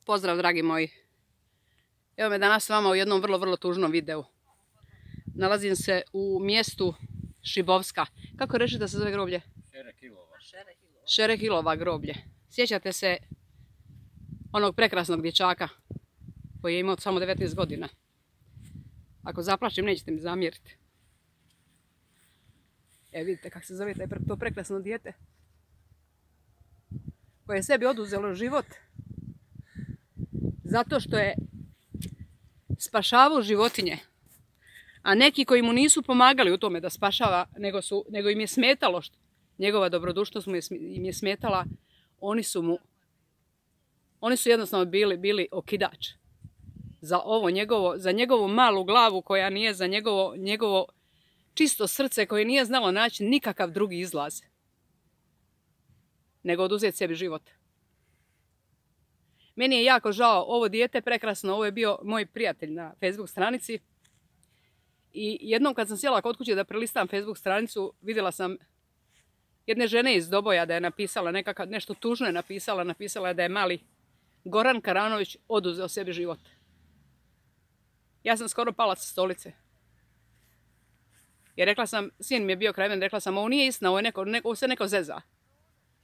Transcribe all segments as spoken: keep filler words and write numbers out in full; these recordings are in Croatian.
Pozdrav dragi moji. Evo me danas s vama u jednom vrlo, vrlo tužnom videu. Nalazim se u mjestu Šibovska. Kako reći da se zove groblje? Šerekilova. Šerekilova groblje. Sjećate se onog prekrasnog dječaka koji je imao samo devetnaest godina. Ako zaplačim nećete mi zamjeriti. E vidite kako se zove to prekrasno dijete koje je sebi oduzelo život zato što je spašavao životinje. A neki koji mu nisu pomagali u tome da spašava, nego, su, nego im je smetalo, što, njegova dobrodušnost mu je, im je smetala, oni su mu, oni su jednostavno bili, bili okidač za ovo njegovo, za njegovu malu glavu koja nije, za njegovo, njegovo čisto srce koje nije znalo naći nikakav drugi izlaz nego oduzeti sebi život. Meni je jako žao, ovo dijete prekrasno, ovo je bio moj prijatelj na Facebook stranici. I jednom kad sam sjela kod kuće da prelistam Facebook stranicu, vidjela sam jedne žene iz Doboja da je napisala nekakav, nešto tužno je napisala, napisala je da je mali Goran Karanović oduzeo sebi život. Ja sam skoro pala sa stolice. I rekla sam, sin mi je bio kraj mene, rekla sam, ovo nije istina, ovo, je neko, neko, ovo se neko zeza.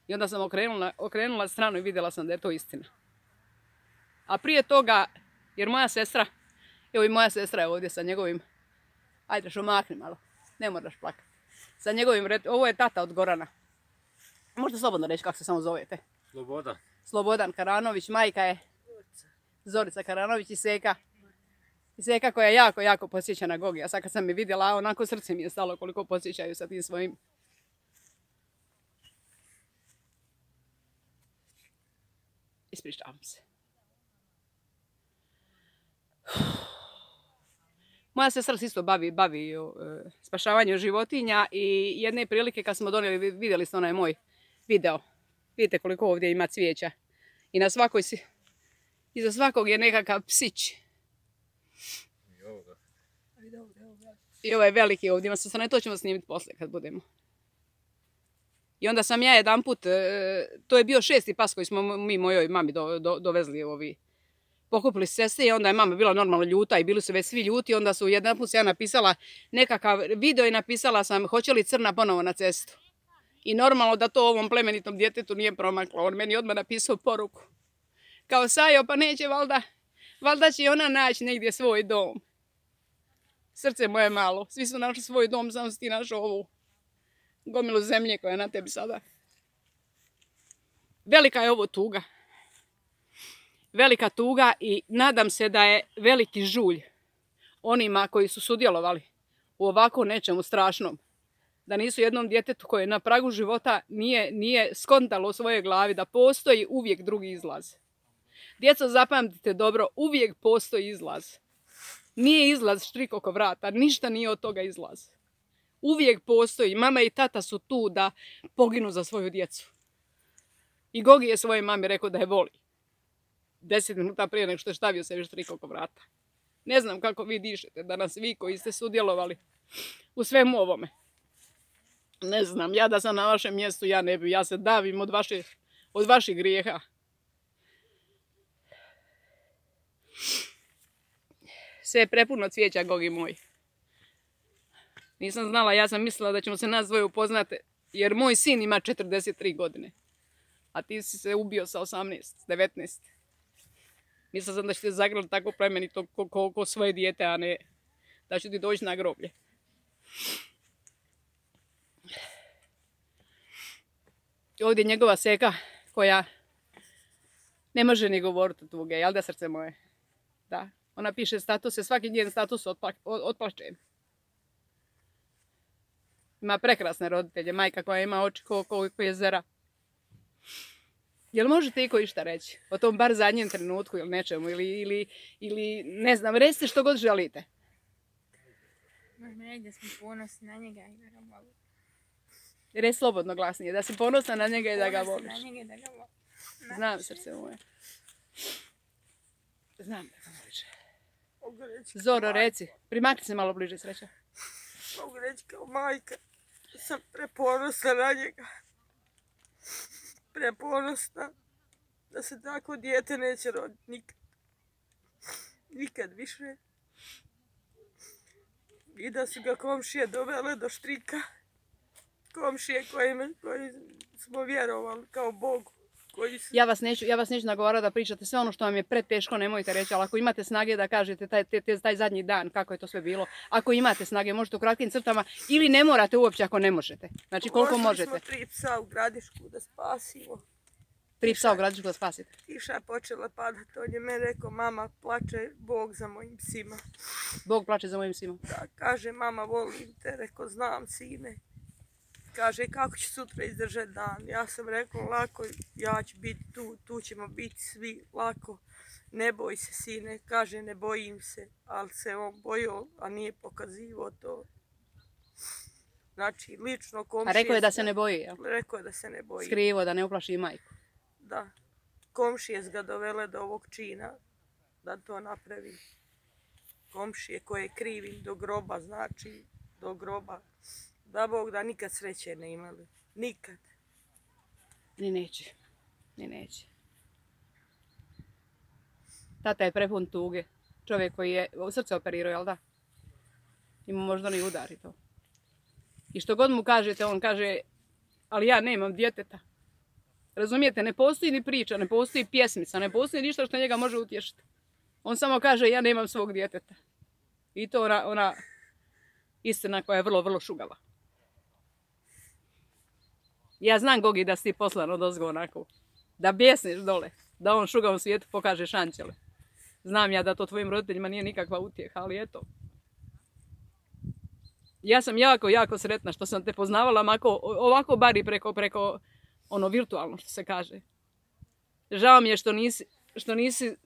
I onda sam okrenula, okrenula stranu i vidjela sam da je to istina. A prije toga, jer moja sestra, evo i moja sestra je ovdje sa njegovim, ajde što makni malo, ne moraš plakati. Sa njegovim, ovo je tata od Gorana. Možete slobodno reći kako se samo zovete. Slobodan. Slobodan Karanović, majka je Zorica Karanović i Seka. I Seka koja jako, jako podsjeća na Gogi. A sad kad sam mi vidjela, onako srce mi je stalo koliko podsjećaju sa tim svojim. Ispričavam se. Moja sestra se isto bavi, bavi uh, spašavanjem životinja i jedne prilike kad smo donijeli, vidjeli ste onaj moj video. Vidite koliko ovdje ima cvijeća. I na svakoj si, iza svakog je nekakav psić. I ovoga. I ovaj veliki ovdje ima se, to ćemo snimiti poslije kad budemo. I onda sam ja jedan put, uh, to je bio šesti pas koji smo mi mojoj mami do, do, dovezli ovi. Pokupili sestre i onda je mama bila normalno ljuta i bili su već svi ljuti. Onda su jedan put ja napisala nekakav video i napisala sam hoće li crna ponovo na cestu. I normalno da to ovom plemenitom djetetu nije promaklo. On meni odmah napisao poruku. Kao Sajo, pa neće valjda, valjda će ona naći negdje svoj dom. Srce moje malo, svi su našli svoj dom, samo si ti našao ovu gomilu zemlje koja je na tebi sada. Velika je ovo tuga. Velika tuga i nadam se da je veliki žulj onima koji su sudjelovali u ovako nečemu strašnom. Da nisu jednom djetetu koje na pragu života nije, nije skontalo u svojoj glavi da postoji uvijek drugi izlaz. Djeco, zapamtite dobro, uvijek postoji izlaz. Nije izlaz štrik oko vrata, ništa nije od toga izlaz. Uvijek postoji, mama i tata su tu da poginu za svoju djecu. I Gogi je svojoj mami rekao da je voli. Deset minuta prije nego što je stavio sebi štrik oko vrata. Ne znam kako vi dišete danas, vi koji ste sudjelovali u svemu ovome. Ne znam, ja da sam na vašem mjestu, ja ne bi, ja se davim od, vaše, od vaših grijeha. Sve je prepuno cvijeća, Gogi moj. Nisam znala, ja sam mislila da ćemo se nas dvoje upoznati, jer moj sin ima četrdeset tri godine. A ti si se ubio sa osamnaest, devetnaest. Mislila sam da ćete zagrliti tako plemenito ko, ko, ko svoje dijete, a ne da ću ti doći na groblje. Ovdje je njegova Seka koja ne može ni govoriti o tuge, jel da srce moje? Da, ona piše statuse, svaki njen status otpla, otplačen. Ima prekrasne roditelje, majka koja ima oči ko, ko, ko jezera. Jel možete i ko išta reći o tom bar zadnjem trenutku ili nečemu ili, ili, ili ne znam, recite što god želite. Možemo reći da smo ponosni na njega i da ga volimo. Reci slobodno glasnije, da si ponosna na njega i da ga voliš. Ponosna na njega i da ga volim. Znam, srce moje. Znam da ga voliš. Zoro, reci, primakni se malo bliže, Sreća. Mogu reći kao majka, sam preponosna na njega. Preponosna. da se tako dijete neće roditi nikad. Nikad više. I da su ga komšije dovele do štrika. Komšije kojim, koji smo vjerovali kao Bogu. Koji su... Ja vas neću, ja vas neću nagovarati da pričate sve ono što vam je preteško, nemojte reći, ali ako imate snage da kažete taj, taj, taj zadnji dan, kako je to sve bilo, ako imate snage, možete u kratkim crtama ili ne morate uopće ako ne možete. Znači koliko možete. Pošli smo tri psa u Gradišku da spasimo. Tri psa u Gradišku da spasite. Kiša je počela padati, on je meni rekao, mama, plače Bog za mojim psima. Bog plače za mojim psima. Da, kaže, mama, volim te, rekao, znam, sine. Kaže, kako će sutra izdržati dan? Ja sam rekao, lako, ja ću biti tu, tu ćemo biti svi, lako. Ne boj se, sine. Kaže, ne bojim se, ali se on bojio, a nije pokazivo to. Znači, lično komšije... A rekao je da se ne boji, jel? Rekao je da se ne boji. Skrivo, da ne uplaši i majku. Da. Komšije su ga dovele do ovog čina da to napravi. Komšije koje krivim do groba, znači do groba. Da Bog da nikad sreće ne imali. Nikad. Ni neće. Ni neće. Tata je prepun tuge. Čovjek koji je u srce operirao, jel da? Ima možda ni udar i to. I što god mu kažete, on kaže, ali ja nemam djeteta. Razumijete, ne postoji ni priča, ne postoji pjesmica, ne postoji ništa što njega može utješiti. On samo kaže, ja nemam svog djeteta. I to ona, ona istina koja je vrlo, vrlo šugava. Ja znam, Gogi, da si ti poslan od ozgo onako. Da bjesniš dole. Da on šugavom svijetu pokaže šančele. Znam ja da to tvojim roditeljima nije nikakva utjeha, ali eto. Ja sam jako, jako sretna što sam te poznavala mako, ovako bar i preko, preko ono virtualno što se kaže. Žao mi je što nisi, što nisi,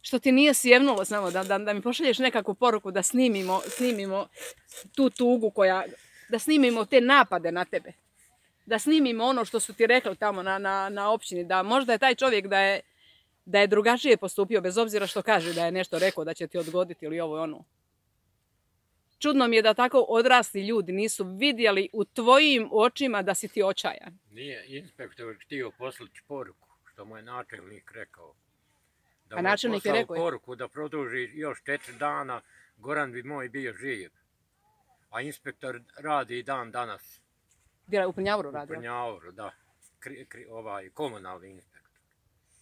što ti nije sjevnulo samo da, da, da mi pošalješ nekakvu poruku da snimimo, snimimo tu tugu koja, da snimimo te napade na tebe. Da snimimo ono što su ti rekli tamo na, na, na općini, da možda je taj čovjek da je, da je drugačije postupio, bez obzira što kaže da je nešto rekao da će ti odgoditi ili ovo i ono. Čudno mi je da tako odrasli ljudi nisu vidjeli u tvojim očima da si ti očajan. Nije inspektor htio poslati poruku, što mu je načelnik rekao. Da A načelnik je rekao? Poruku da produži još četiri dana, Goran bi moj bio živ. A inspektor radi i dan danas. Bila u Prnjavoru radi? U Prnjavoru, da. Kri, kri, ovaj komunalni inspektor.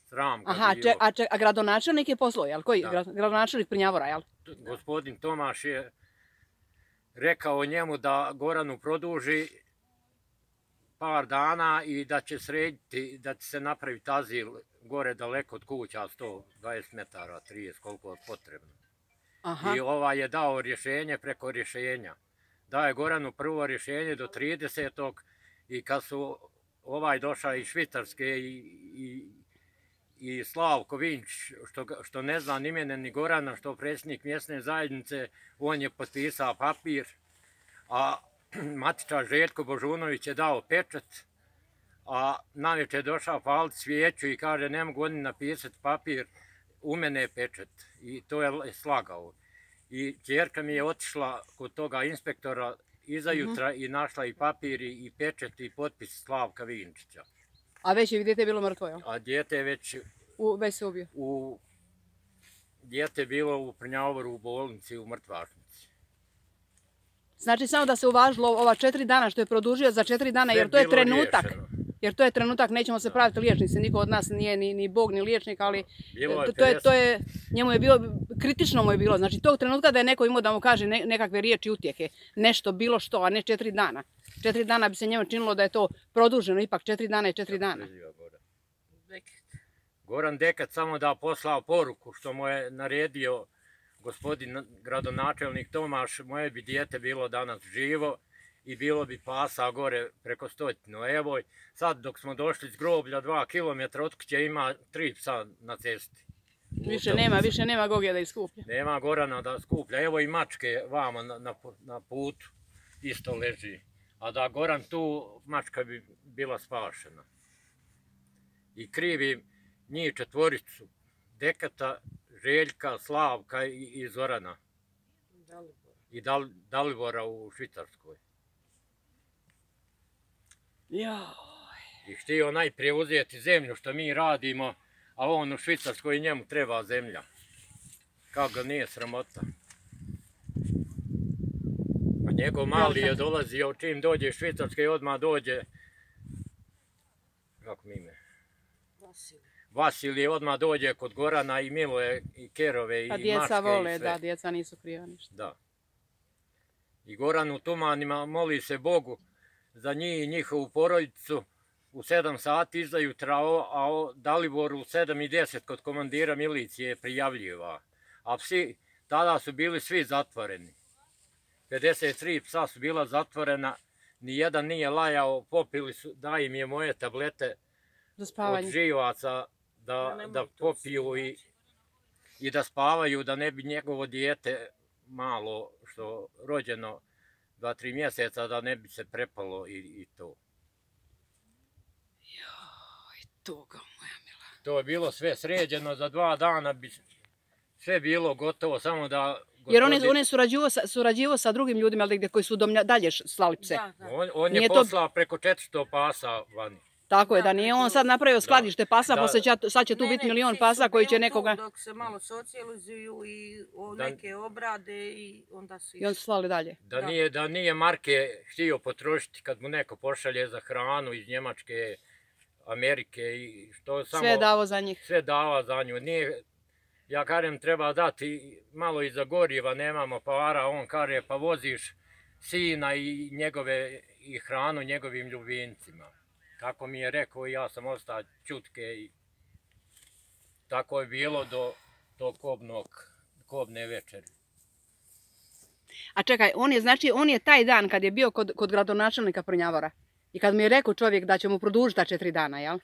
Sram ga Aha, bio. če, a, če, a gradonačelnik je poslao, jel? Koji? Da. Gradonačelnik Prnjavora, jel? Gospodin Tomaš je rekao njemu da Goranu produži par dana i da će srediti, da će se napraviti azil gore daleko od kuća, sto dvadeset metara, trideset, koliko je potrebno. Aha. I ovaj je dao rješenje preko rješenja. Dao je Goranu prvo rješenje do tridesetog i kad su ovaj došao iz Švicarske i, i, i Slavko Vinč, što, što ne zna ni mene ni Gorana, što predsjednik mjesne zajednice, on je potpisao papir, a matičar Željko Božunović je dao pečat, a navečer je došao palit svijeću i kaže ne mogu oni napisati papir, u mene je pečat. I to je slagao. I ćerka mi je otišla kod toga inspektora iza jutra i našla i papir i pečat i potpis Slavka Vinčića. A već je dijete bilo mrtvo, jel? A dijete je već... U, već se ubio. U, dijete je bilo u Prnjavoru u bolnici u mrtvačnici. Znači samo da se uvažilo ova četiri dana što je produžio za četiri dana, jer to je trenutak. Jer to je trenutak, nećemo se praviti liječnici, niko od nas nije ni, ni Bog ni liječnik, ali je to, je, to je, njemu je bilo, kritično mu je bilo, znači tog trenutka da je neko imao da mu kaže ne, nekakve riječi utjehe, nešto bilo što, a ne četiri dana. Četiri dana bi se njemu činilo da je to produženo, ipak četiri dana je četiri dana. Goran Dekat samo da poslao poruku što mu je naredio gospodin gradonačelnik Tomaš, moje bi dijete bilo danas živo i bilo bi pasa gore preko stotinu. Evo, sad dok smo došli s groblja dva kilometra od kuće ima tri psa na cesti. Više nema, više nema Gogija da iskuplja. Nema Gorana da skuplja. Evo i mačke vama na, na, na putu isto leži. A da Goran tu, mačka bi bila spašena. I krivi njih četvoricu, Dekata, Željka, Slavka i, i Zorana. Dalibora. I Dal, Dalibora u Švicarskoj. Joj. I htio najprije uzeti zemlju što mi radimo, a on u Švicarskoj njemu treba zemlja. Kako ga nije sramota. A njegov mali je dolazio, čim dođe iz Švicarske i odmah dođe, kako mi ime? Vasilij. Vasilije odmah dođe kod Gorana i Miloje i Kerove i Pa Mačke djeca i vole, sve. da, djeca nisu kriva ništa. Da. I Goran u Tumanima moli se Bogu za njih i njihovu porodicu. U sedam sati izajutra, a Dalibor u sedam i deset kod komandira milicije prijavljiva. A psi tada su bili svi zatvoreni. pedeset tri psa su bila zatvorena, nijedan nije lajao, popili su, daj im je moje tablete Za od spavanje. živaca da, da popiju i, i da spavaju, da ne bi njegovo dijete malo što rođeno dva, tri mjeseca, da ne bi se prepalo i, i to. Joj, tuga moja mila. To je bilo sve sređeno, za dva dana bi sve bilo gotovo, samo da... Jer on je, on je surađivao, sa, surađivao sa drugim ljudima ali gdje koji su domlja, dalje slali pse. Da, da. On, on je Nije to- poslao preko četiristo pasa vani. Tako je, da Da, nije preko- on sad napravio skladište pasa, Da. poslije će, sad će tu Ne, biti ne, milion psi pasa su koji će bili tu nekoga... Dok se malo socijalizuju i o, Da- neke obrade i onda su I on su slali dalje. Da Da. nije, da nije marke htio potrošiti kad mu neko pošalje za hranu iz Njemačke, Amerike i što samo... Sve je davo za njih. Sve dava za nju. Nije, ja kažem treba dati malo i za goriva, nemamo para, on kaže pa voziš sina i njegove i hranu njegovim ljubimcima. Tako mi je rekao i ja sam ostao čutke i tako je bilo do, do kobnog, kobne večeri. A čekaj, on je, znači, on je taj dan kad je bio kod, kod gradonačelnika Prnjavora i kad mi je rekao čovjek da će mu produžiti ta četiri dana, jel?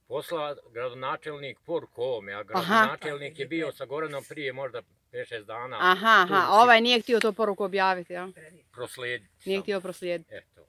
Posla gradonačelnik poruku ovome, a gradonačelnik je bio sa Goranom prije možda pet šest dana. Aha, tu aha, si ovaj nije htio to poruku objaviti, jel? proslijediti Nije samo. htio proslijediti. Eto.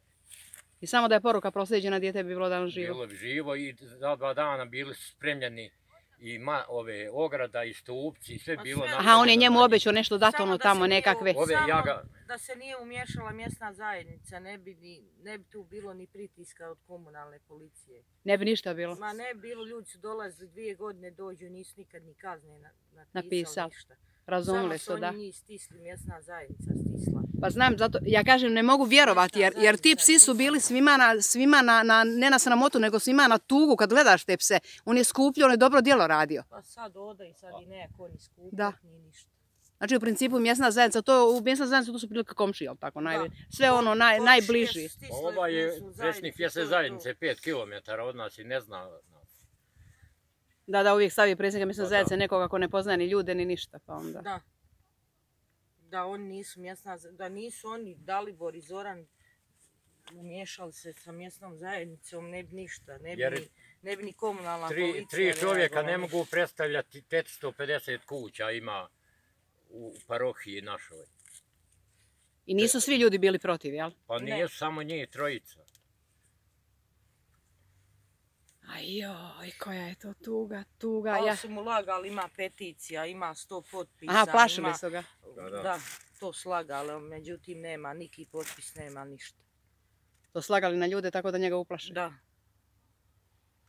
I samo da je poruka proslijeđena, dijete bi bilo dan živo. Bilo bi živo i za dva dana bili su spremljeni i ma, ove ograda i stupci, sve Ma bilo sve. Aha, on je napravljeno njemu za njih. obećao nešto dati Samo ono da tamo se nije nekakve. u- Ove, samo ja ga- da se nije umješala mjesna zajednica, ne bi, ni, ne bi tu bilo ni pritiska od komunalne policije. Ne bi ništa bilo. Ma ne bi bilo, ljudi su dolazili dvije godine, dođu, nisu nikad ni kazne na, napisali Napisali. ništa. Razumili Samo su, da. oni njih stisli, mjesna zajednica stisla. Pa znam, zato, ja kažem, ne mogu vjerovati, jer, jer ti psi su bili svima, na, svima na, na, ne na sramotu, nego svima na tugu kad gledaš te pse. On je skupljio, on je dobro djelo radio. Pa sad oda i sad i neko ni skupljati, Da. ni ništa. Znači, u principu mjesna zajednica, to, u mjesna zajednica to su prilike komšije, jel tako? Naj, Da. sve ono naj, Komšije najbliži. stisle Pa ovaj je mjesnu predsjednik zajednicu, mjesne to je to. zajednice pet kilometara od nas i ne zna nas. Da, da, uvijek stavi predsjednika mjesne Pa da. zajednice nekoga ko ne poznaje ni ljude, ni ništa, pa onda. Da. Da oni nisu mjesna, za- da nisu oni Dalibor i Zoran umiješali se sa mjesnom zajednicom, ne bi ništa, ne bi, Jer ni, ne bi ni komunalna Tri, policija. tri čovjeka reagovala ne ništa. mogu predstavljati četiristo pedeset kuća ima u parohiji našoj. I nisu svi ljudi bili protiv, jel? Pa Ne. nisu samo njih trojica. Aj joj, koja je to tuga, tuga. Ali Ja... su mu lagali, ima peticija, ima sto potpisa. Aha, plašili ima, su ga. Da, da. Da, to slagali, međutim nema, niki potpis nema ništa. To slagali na ljude tako da njega uplaše. Da,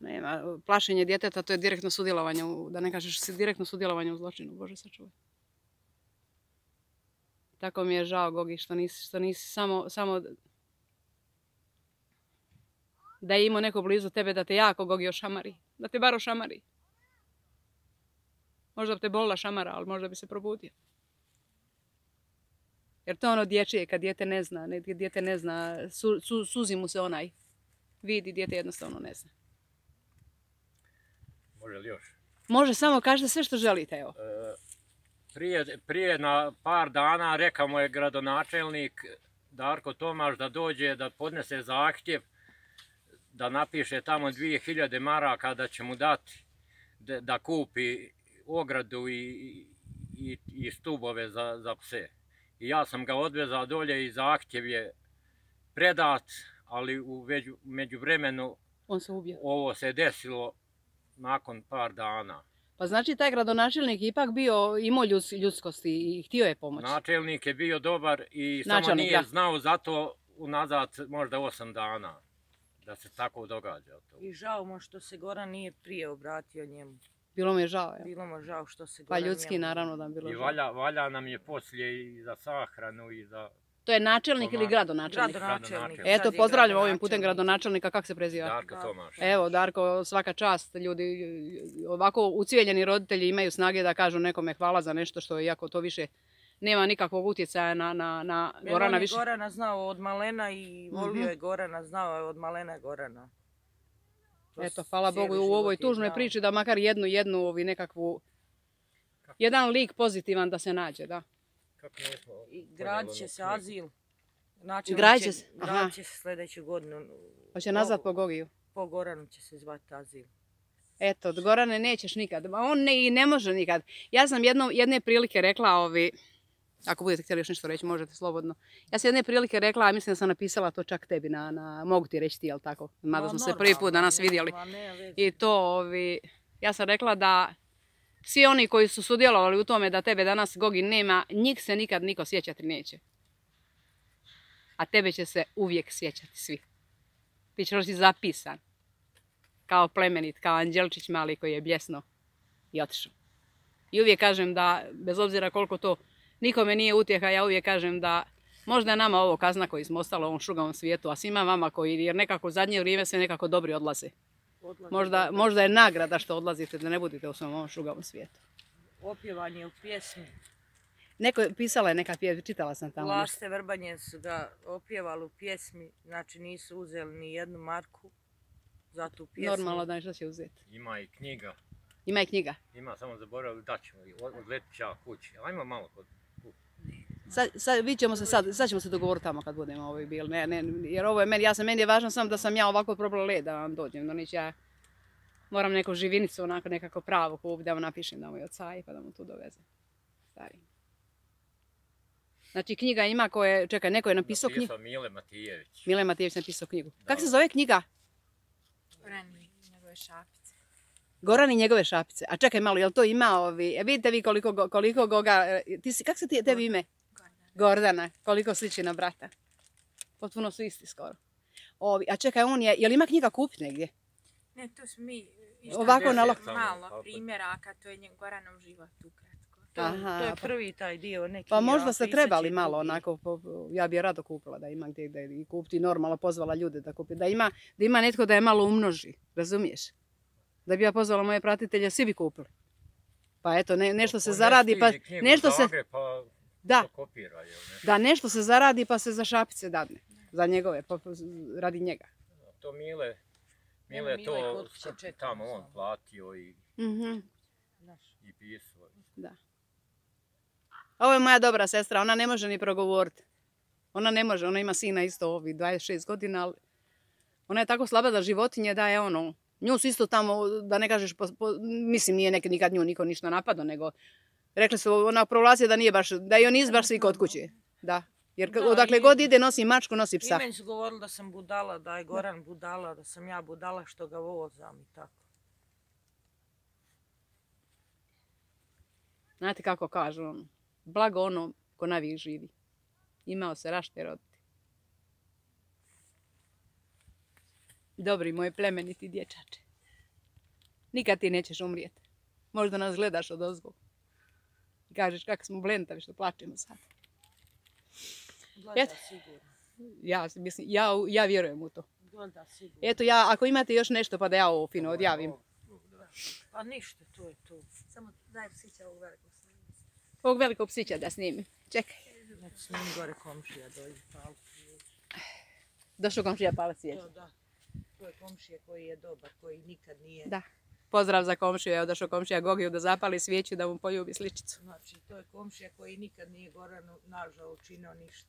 Nema, plašenje djeteta, to je direktno sudjelovanje, u, da ne kažeš si direktno sudjelovanje u zločinu, Bože sačuvaj. Tako mi je žao, Gogi, što nisi, što nisi samo, samo da je imao neko blizu tebe da te jako, Gogi, ošamari. Da te bar ošamari. Možda bi te bolila šamara, ali možda bi se probudio. Jer to je ono dječje, kad dijete ne zna, ne, dijete ne zna, su, su, suzi mu se onaj. Vidi, dijete jednostavno ne zna. Može li još? Može, samo kažete sve što želite, evo. E, Prije, prije na par dana rekao mu je gradonačelnik Darko Tomaš da dođe da podnese zahtjev da napiše tamo dvije hiljade maraka da će mu dati da, da kupi ogradu i, i, i stubove za, za pse. I ja sam ga odvezao dolje i zahtjev je predat, ali u veđu, međuvremenu On se ubio. ovo se desilo nakon par dana. Pa znači taj gradonačelnik je ipak bio, imao ljus, ljudskosti i htio je pomoći. Načelnik je bio dobar i samo Načelnik, nije da. znao zato unazad možda osam dana. da se tako događa to. I žao mu što se Goran nije prije obratio njemu. Bilo mu je žao, ja. Bilo mu žao što se Pa Goran ljudski njemu- naravno da bi bilo I žao. valja, valja nam je poslije i za sahranu i za To je načelnik ili Pomaga. gradonačelnik? Gradonačelnik. Eto, Sad je pozdravljam ovim putem gradonačelnik. gradonačelnika, kako se preziva? Darko Tomaš. Evo, Darko, svaka čast, ljudi, ovako ucijeljeni roditelji imaju snage da kažu nekome hvala za nešto što, iako to više nema nikakvog utjecaja na, na, na Jer Gorana on je više. Gorana znao od malena i volio Mhm. je Gorana, znao je od malena Gorana. To Eto, hvala cijeli Bogu u život ovoj je tužnoj znao. priči da makar jednu, jednu, ovi nekakvu, jedan lik pozitivan da se nađe, da. Kako nismo I gradit će se azil. Načelnik Gradit će se, aha. gradit će se sljedeću godinu. Hoće nazvat Ovo- po Gogiju. Po Goranu će se zvati azil. Eto, od Gorane nećeš nikad. Ma on ne, i ne može nikad. Ja sam jedno, jedne prilike rekla, ovi, ako budete htjeli još nešto reći, možete slobodno. Ja sam jedne prilike rekla, a mislim da sam napisala to čak tebi, na, na, mogu ti reći ti, jel tako? Mada Ma, smo se prvi put normalno, danas ne, vidjeli. ma, ne, veze. I to, ovi, ja sam rekla da svi oni koji su sudjelovali u tome da tebe danas Gogi nema, njih se nikad niko sjećati neće. A tebe će se uvijek sjećati svi. Ti ćeš biti zapisan. Kao plemenit, kao anđelčić mali koji je bljesno i otišao. I uvijek kažem da, bez obzira koliko to nikome nije utjeha, ja uvijek kažem da možda je nama ovo kazna koji smo ostali u ovom šugavom svijetu, a svima vama koji, jer nekako u zadnje vrijeme sve nekako dobri odlaze. Odlazi Možda, dobro. možda je nagrada što odlazite, da ne budete u svom ovom šugavom svijetu. Opjevanje u pjesmi. Neko je pisala je neka pjesma, čitala sam tamo. nešto. Laste Vrbanje su ga opjevali u pjesmi, znači nisu uzeli ni jednu marku za tu pjesmu. Normalno da nešto će uzeti. Ima i knjiga, Ima i knjiga. ima samo zaboravili da ćemo i od- odletit ću ja kući. Ajmo malo kod Sad, sad, vidit ćemo se sad, sad ćemo se dogovoriti tamo kad budemo ovaj bili. Ne, ne, jer ovo je meni, ja sam, meni je važno samo da sam ja ovako probala led da vam dođem. Da neću ja moram neku živinicu, onako nekako pravu kupiti da mu napišem da mu je od Saji pa da mu tu dovezem. Stari. Znači knjiga ima koje, čekaj, neko je napisao knjigu. napisao Mile Matijević. Mile Matijević napisao knjigu. Da. Kako se zove knjiga? Goran i njegove šapice. Goran i njegove šapice. A čekaj malo, jel to ima ovi, e, vidite vi koliko, go- koliko Goga, e, ti si, kako se ti, tebi ime? Gordana. Gordana, koliko sliči na brata. Potpuno su isti skoro. Ovi, a čekaj, on je, jel ima knjiga kupiti negdje? Ne, to smo mi Ovako na lo- malo primjeraka, to je njen Goranov život ukratko. To, Aha, to je pa- prvi taj dio. Neki Pa možda ja, ste pisat će trebali i malo drugi. onako, po- po- ja bi je rado kupila da ima gdje, gdje i kupiti normalno, pozvala ljude da kupi, da ima, da ima netko da je malo umnoži, razumiješ? Da bi ja pozvala moje pratitelje, svi bi kupili. Pa eto, ne, nešto se Ponesi zaradi, pa knjigu nešto u se, Zagreb, pa da, to kopira, jel ne? da nešto se zaradi pa se za šapice dadne, za njegove, pa, pa radi njega. To Mile, Evo, Mile je Mile to kod kuće čeka tamo nas on ovdje. platio i, Mhm. Znaš, i pisao. Da. Ovo je moja dobra sestra, ona ne može ni progovoriti. Ona ne može, ona ima sina isto ovi dvadeset šest godina, ali ona je tako slaba da životinje da je ono, nju su isto tamo, da ne kažeš, po, po- mislim nije nekad nikad nju niko ništa napadao, nego rekli su ona provlacija da nije baš, da je on izbaš svi kod kuće. Da. Jer Da, odakle i- god ide nosi mačku, nosi I psa. meni su govorili da sam budala, da je Goran budala, da sam ja budala što ga vozam i tako. Znate kako kažu ono, blago ono ko navijek živi. Imao se rašte roditi. Dobri moj plemeniti dječače. Nikad ti nećeš umrijeti. Možda nas gledaš od ozgo. I kažeš kako smo blentavi što plačemo sad. Gleda Eto. sigurno. Ja, mislim, ja, ja vjerujem u to. Gleda sigurno. Eto ja, ako imate još nešto pa da ja ovo fino odjavim. Pa ništa, to je to. Samo daj psića ovog velikog snimca. Ovog velikog psića da snimim. Čekaj. Nek s njim gore komšija dođe palu. Došao komšija palac svijeća. To da. To je komšija koji je dobar, koji nikad nije... Da. Pozdrav za komšiju, evo došao komšija Gogiju da zapali svijeću da mu poljubi sličicu. Znači, to je komšija koji nikad nije Goranu nažao učinio ništa.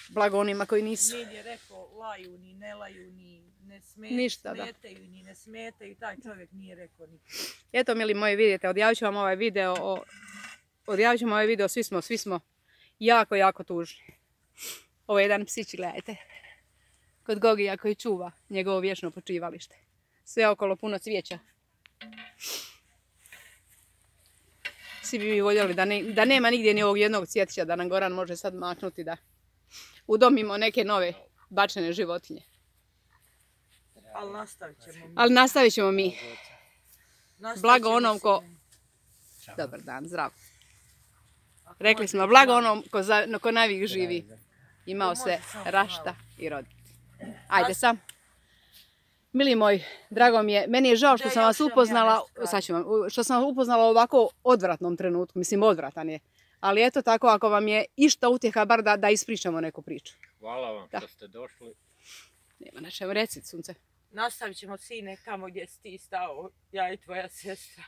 Blago onima koji nisu. Nije je rekao laju, ni ne laju, ni ne sme, Ništa, da. smetaju, ni ne smetaju. Taj čovjek nije rekao ništa. Eto, mili moji, vidite, odjavit ću vam ovaj video, o, odjavit ću vam ovaj video, svi smo, svi smo jako, jako tužni. Ovo je jedan psić, gledajte. Kod Gogija koji čuva njegovo vječno počivalište. Sve okolo puno cvijeća. Svi bi mi voljeli da, ne, da nema nigdje ni ovog jednog cvjetića, da nam Goran može sad maknuti da udomimo neke nove bačene životinje. ali nastavit ćemo mi. Ali nastavit ćemo mi. Nastavit Blago ćemo onom ko... sine. Dobar dan, zdravo. Ako Rekli može smo, blago samo- onom ko, za, ko najvijek živi. Imao Ako se može samo rašta i roditi. Ajde sam. Mili moj, drago mi je, meni je žao što Da, sam još vas imam ja upoznala, nešto kažem. sad ću vam, u- što sam vas upoznala u ovako odvratnom trenutku, mislim odvratan je. Ali eto tako, ako vam je išta utjeha, bar da, da ispričamo neku priču. Hvala vam Da. što ste došli. Nema na čemu, reci sunce. Nastavit ćemo sine tamo gdje si ti stao, ja i tvoja sestra.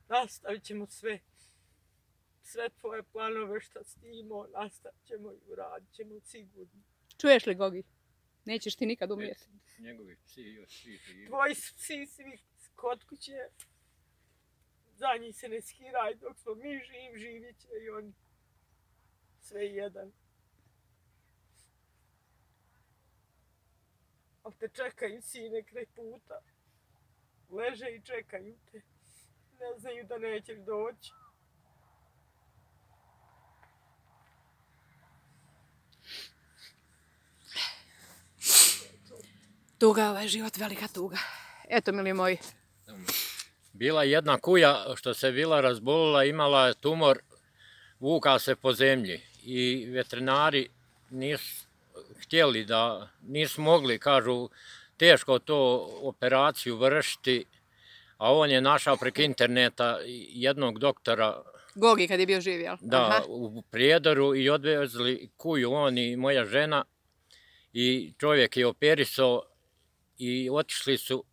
Nastavit ćemo sve. Sve tvoje planove što si ti imao, nastavit ćemo i uradit ćemo sigurno. Čuješ li, Gogi? Nećeš ti nikad umrijeti. Njegovi psi još svi živi. Tvoji su psi svi kod kuće. Za njih se ne skiraj, dok smo mi živ, živit će i oni. Sve jedan. Ali te čekaju sine kraj puta. Leže i čekaju te. Ne znaju da nećeš doći. Tuga, ovaj život, velika tuga. Eto, mili moji, Bila je jedna kuja što se bila razbolila, imala je tumor, vuka se po zemlji i veterinari nisu htjeli da, nisu mogli, kažu, teško to operaciju vršiti, a on je našao preko interneta jednog doktora, Gogi kad je bio živ, jel? da, Aha. u Prijedoru i odvezli kuju, on i moja žena, i čovjek je operisao i otišli su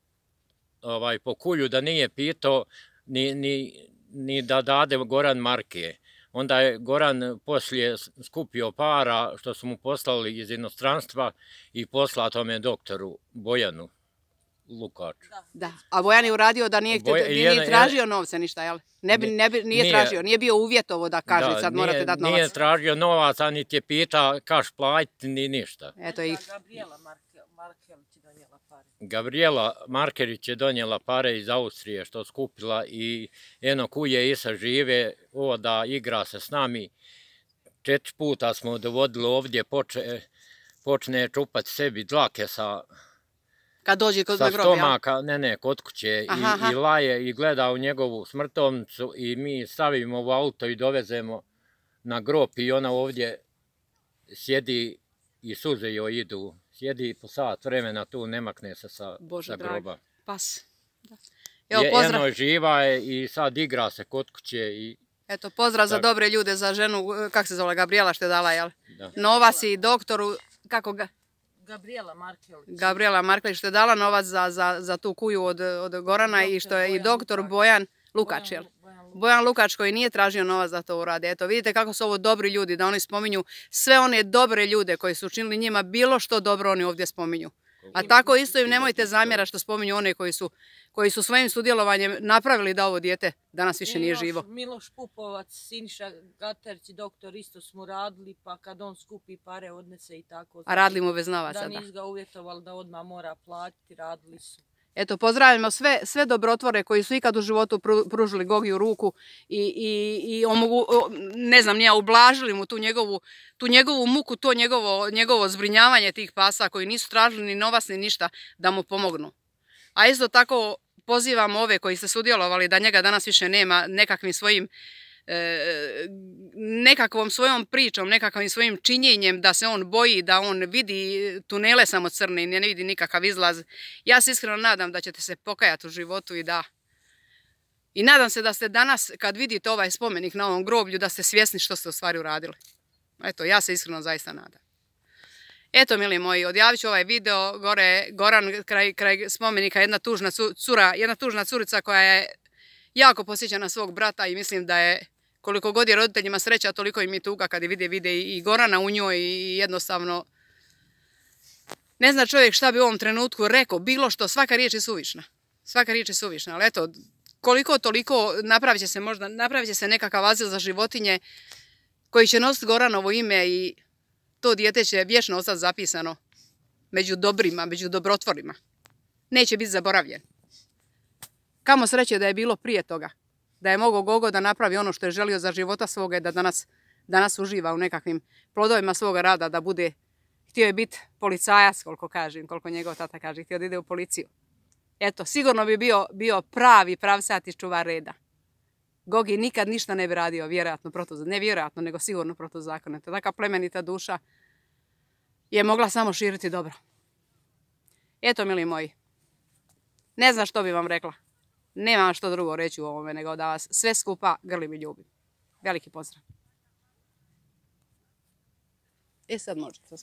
ovaj, po kuju da nije pitao ni, ni, ni da dade Goran marke. Onda je Goran poslije skupio para što su mu poslali iz inostranstva i poslao tome doktoru Bojanu Lukaču. Da, a Bojan je uradio da nije, htio, Boja- nije jedan- ni tražio novce ništa, jel? Ne bi, ne bi, nije, Nije- tražio, nije bio uvjetovo da kaže Da, sad nije- morate dati Nije novac. tražio novac, a niti je pita kaš platiti, ni ništa. Eto i Gabriela Markel, Markel ti donijela pare. Gabriela Markerić je donijela pare iz Austrije što skupila i eno kuje Isa žive, ovo da igra se s nami. Četiri puta smo dovodili ovdje, poče, počne čupati sebi dlake sa, kad dođe kod sa grob, jel? stomaka, ne ne, kod kuće Aha, i, aha. i laje i gleda u njegovu smrtovnicu i mi stavimo u auto i dovezemo na grob i ona ovdje sjedi i suze joj idu. Sjedi po sat vremena tu, ne makne se sa, Bože sa dragi. groba. Pas. Da. Evo, Je, pozdrav, eno živa je i sad igra se kod kuće i eto, pozdrav za Tak. dobre ljude, za ženu, kak se zove, Gabriela što je dala, jel? da. Novac i doktoru, kako ga? Gabriela Markel. Gabriela Marklić što je dala novac za, za, za tu kuju od, od Gorana i što je i Bojan doktor Lukač. Bojan Lukač, jel? Bojan Lukač koji nije tražio novac da to urade. Eto, vidite kako su ovo dobri ljudi, da oni spominju sve one dobre ljude koji su učinili njima bilo što dobro oni ovdje spominju. A tako isto im nemojte zamjera što spominju one koji su, koji su svojim sudjelovanjem napravili da ovo dijete danas više nije Miloš- živo. Miloš Pupovac, Siniša Gaterić i doktor isto smo radili, pa kad on skupi pare odnese i tako. A radili mu bez novaca, Da da. nisu ga uvjetovali da odmah mora platiti, radili su. Eto, pozdravljamo sve, sve dobrotvore koji su ikad u životu pru- pružili Gogiju ruku i, i, i omogu, o, ne znam, nija, ublažili mu tu njegovu, tu njegovu muku, to njegovo, njegovo zbrinjavanje tih pasa koji nisu tražili ni novac ni ništa da mu pomognu. A isto tako pozivamo ove koji ste sudjelovali da njega danas više nema nekakvim svojim e, nekakvom svojom pričom, nekakvim svojim činjenjem da se on boji, da on vidi tunele samo crne i ne vidi nikakav izlaz. Ja se iskreno nadam da ćete se pokajati u životu i da... I nadam se da ste danas, kad vidite ovaj spomenik na ovom groblju, da ste svjesni što ste u stvari uradili. Eto, ja se iskreno zaista nadam. Eto, mili moji, odjavit ću ovaj video. Gore, Goran, kraj, kraj spomenika, jedna tužna cu- cura, jedna tužna curica koja je jako posjeća na svog brata i mislim da je, koliko god je roditeljima sreća, toliko im je tuga kad je vide, vide i Gorana u njoj i jednostavno ne zna čovjek šta bi u ovom trenutku rekao, bilo što, svaka riječ je suvišna. Svaka riječ je suvišna, ali eto, koliko toliko napravit će se možda, napravit će se nekakav azil za životinje koji će nositi Goranovo ime i to dijete će vječno ostati zapisano među dobrima, među dobrotvorima. Neće biti zaboravljen. Kamo sreće da je bilo prije toga. Da je mogao Gogo da napravi ono što je želio za života svoga i da danas, danas uživa u nekakvim plodovima svoga rada, da bude htio je biti policajac, koliko kažem, koliko njegov tata kaže, htio da ide u policiju. Eto, sigurno bi bio, bio pravi pravsati čuvar reda. Gogi nikad ništa ne bi radio, vjerojatno protuzakonito, ne vjerojatno, nego sigurno protuzakonito. Taka plemenita duša je mogla samo širiti dobro. Eto, mili moji, ne znam što bi vam rekla. Nemam što drugo reći u ovome, nego da vas sve skupa grlim i ljubim. Veliki pozdrav. E sad možete.